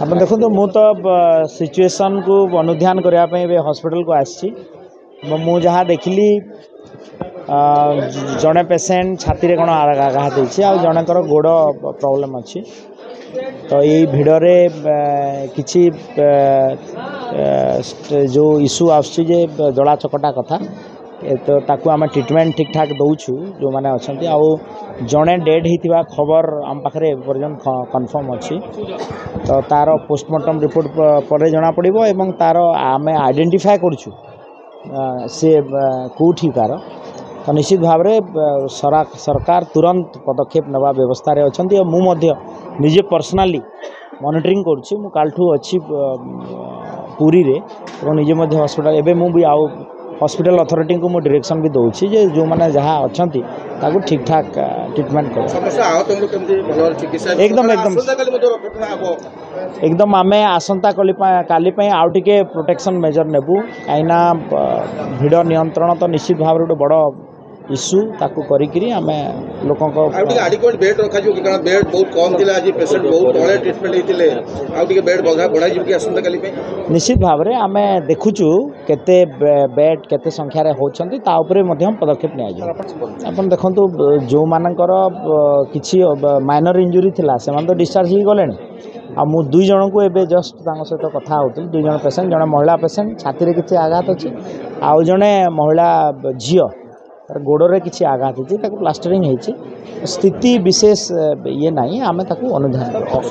ଆପଣ ଦେଖନ୍ତୁ, ମୁଁ ତ ସିଚୁଏସନ୍କୁ ଅନୁଧ୍ୟାନ କରିବା ପାଇଁ ଏବେ ହସ୍ପିଟାଲକୁ ଆସିଛି ଏବଂ ମୁଁ ଯାହା ଦେଖିଲି, ଜଣେ ପେସେଣ୍ଟ ଛାତିରେ କ'ଣ ଆଘାତ ହେଇଛି ଆଉ ଜଣଙ୍କର ଗୋଡ଼ ପ୍ରୋବ୍ଲେମ୍ ଅଛି। ତ ଏଇ ଭିଡ଼ରେ କିଛି ଯେଉଁ ଇସ୍ୟୁ ଆସୁଛି ଯେ ଦଳା ଚକଟା କଥା, ତ ତାକୁ ଆମେ ଟ୍ରିଟମେଣ୍ଟ ଠିକ୍ ଠାକ୍ ଦେଉଛୁ ଯେଉଁମାନେ ଅଛନ୍ତି। ଆଉ ଜଣେ ଡେଡ଼୍ ହେଇଥିବା ଖବର ଆମ ପାଖରେ ଏପର୍ଯ୍ୟନ୍ତ କନଫର୍ମ ଅଛି, ତ ତା'ର ପୋଷ୍ଟମର୍ଟମ୍ ରିପୋର୍ଟ ପରେ ଜଣାପଡ଼ିବ ଏବଂ ତା'ର ଆମେ ଆଇଡେଣ୍ଟିଫାଏ କରୁଛୁ ସେ କେଉଁଠିକାର। ତ ନିଶ୍ଚିତ ଭାବରେ ସରକାର ତୁରନ୍ତ ପଦକ୍ଷେପ ନେବା ବ୍ୟବସ୍ଥାରେ ଅଛନ୍ତି ଆଉ ମୁଁ ମଧ୍ୟ ନିଜେ ପର୍ସନାଲି ମନିଟରିଂ କରୁଛି। ମୁଁ କାଲିଠୁ ଅଛି ପୁରୀରେ ଏବଂ ନିଜେ ମଧ୍ୟ ହସ୍ପିଟାଲ ଏବେ ମୁଁ ବି ଆଉ ହସ୍ପିଟାଲ ଅଥରିଟିଙ୍କୁ ମୁଁ ଡିରେକ୍ସନ୍ ବି ଦେଉଛି ଯେ ଯେଉଁମାନେ ଯାହା ଅଛନ୍ତି ତାକୁ ଠିକ୍ ଠାକ୍ ଟ୍ରିଟମେଣ୍ଟ କର। ଏକଦମ ଏକଦମ ଏକଦମ, ଆମେ ଆସନ୍ତା କାଲି ପାଇଁ ଆଉ ଟିକେ ପ୍ରୋଟେକ୍ସନ୍ ମେଜର ନେବୁ, କାହିଁକିନା ଭିଡ଼ ନିୟନ୍ତ୍ରଣ ତ ନିଶ୍ଚିତ ଭାବରେ ଗୋଟେ ବଡ଼ ଇସ୍ୟୁ। ତାକୁ କରିକିରି ଆମେ ଲୋକଙ୍କ ଆଉ ଟିକେ ଆଡିକ୍ୱେଟ୍ ବେଡ୍ ରଖାଯିବ କି? କାରଣ ବେଡ୍ ବହୁତ କମ୍ ଥିଲା, ଆଜି ପେସେଣ୍ଟ ବହୁତ ତଳେ ଟ୍ରିଟମେଣ୍ଟ ହେଇଥିଲେ। ଆଉ ଟିକେ ବେଡ୍ ବଢ଼ାଯିବ କି ଆସନ୍ତାକାଲି ପାଇଁ? ନିଶ୍ଚିତ ଭାବରେ ଆମେ ଦେଖୁଛୁ କେତେ ବେଡ୍ କେତେ ସଂଖ୍ୟାରେ ହେଉଛନ୍ତି, ତା ଉପରେ ମଧ୍ୟ ପଦକ୍ଷେପ ନିଆଯିବ। ଆପଣ ଦେଖନ୍ତୁ, ଯେଉଁମାନଙ୍କର କିଛି ମାଇନର ଇଞ୍ଜୁରି ଥିଲା ସେମାନେ ତ ଡିସଚାର୍ଜ ହେଇଗଲେଣି। ଆଉ ମୁଁ 2 ଜଣଙ୍କୁ ଏବେ ଜଷ୍ଟ ତାଙ୍କ ସହିତ କଥା ହେଉଥିଲି। 2 ଜଣ ପେସେଣ୍ଟ, ଜଣେ ମହିଳା ପେସେଣ୍ଟ ଛାତିରେ କିଛି ଆଘାତ ଅଛି ଆଉ ଜଣେ ମହିଳା ଝିଅ ତାର ଗୋଡ଼ରେ କିଛି ଆଘାତ ହେଇଛି, ତାକୁ ପ୍ଲାଷ୍ଟରିଂ ହେଇଛି। ସ୍ଥିତି ବିଶେଷ ଇଏ ନାହିଁ, ଆମେ ତାକୁ ଅନୁଧ୍ୟାନ କରୁ।